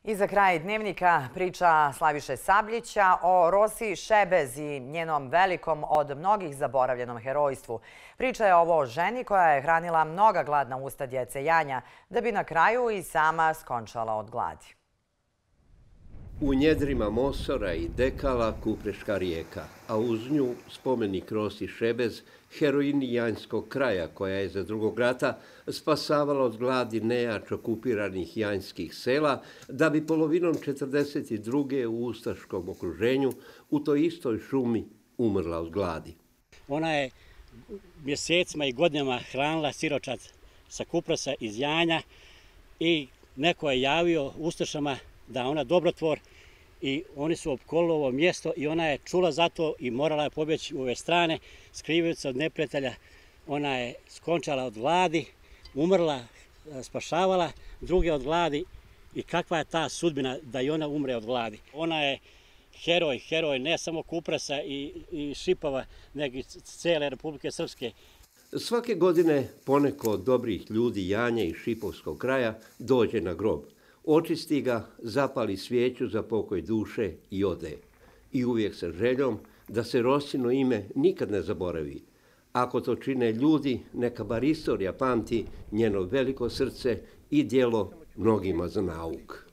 I za kraj dnevnika priča Slaviše Sabljića o Rosi Šebez i njenom velikom od mnogih zaboravljenom herojstvu. Priča je ovo o ženi koja je hranila mnoga gladna usta djece Janja, da bi na kraju i sama skončala od gladi. U njedrima Mosora i Dekala Kupreška rijeka, a uz nju spomenik Rosi Šebez, heroini Janjskog kraja, koja je za Drugog rata spasavala od gladi nejač okupiranih janjskih sela, da bi polovinom 1942. u ustaškom okruženju u toj istoj šumi umrla od gladi. Ona je mjesecima i godinama hranila siročad sa Kupresa iz Janja i neko je javio ustašama da ona dobrotvor i oni su opkolili ovo mjesto i ona je čula za to i morala je pobjeći u ove strane, skrivajući se od neprijatelja. Ona je skončala od gladi, umrla, spašavala druge od gladi i kakva je ta sudbina da i ona umre od gladi. Ona je heroj ne samo Kupresa i Šipova, nego i cijele Republike Srpske. Svake godine poneko od dobrih ljudi Janje i Šipovskog kraja dođe na grob. Očisti ga, zapali svijeću za pokoj duše i ode. I uvijek sa željom da se Rosino ime nikad ne zaboravi. Ako to čine ljudi, neka bar istorija pamti njeno veliko srce i djelo mnogima za nauk.